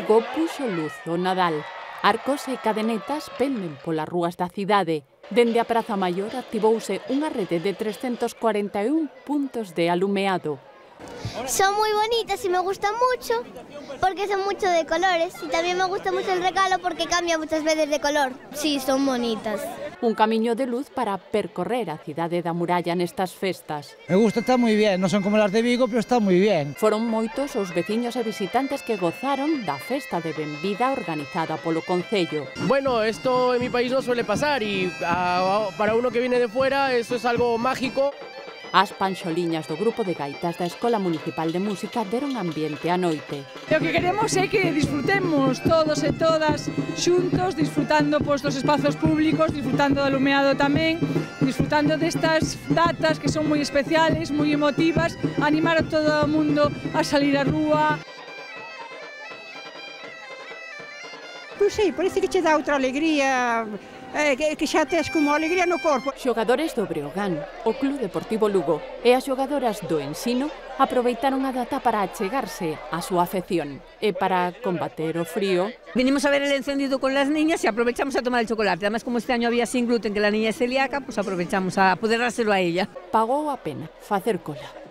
Vigo puxo luz o Nadal. Arcos e cadenetas penden polas rúas da cidade. Dende a Praza Maior activouse unha rede de 341 puntos de alumeado. Son muy bonitas y me gustan mucho porque son mucho de colores y también me gusta mucho el regalo porque cambia muchas veces de color. Sí, son bonitas. Un camiño de luz para percorrer a cidade da muralla nestas festas. Me gusta, está moi bien, non son como las de Vigo, pero está moi bien. Foron moitos os veciños e visitantes que gozaron da festa de benvida organizada polo Concello. Bueno, esto en mi país no suele pasar y para uno que viene de fuera esto es algo mágico. As panxoliñas do grupo de gaitas da Escola Municipal de Música deron ambiente á noite. O que queremos é que disfrutemos todos e todas xuntos, disfrutando dos espazos públicos, disfrutando do alumeado tamén, disfrutando destas datas que son moi especiales, moi emotivas, animar a todo o mundo a salir á rúa. Pois sí, parece que che dá outra alegría, que xa tes como alegría no corpo. Xogadores do Breogán, o Club Deportivo Lugo e as xogadoras do Ensino aproveitaron a data para achegarse á súa afección e para combater o frío. Vinimos a ver el encendido con las niñas y aprovechamos a tomar el chocolate. Además, como este año había sin gluten, que la niña es celíaca, pues aprovechamos a poder dárselo a ella. Pagou a pena facer cola.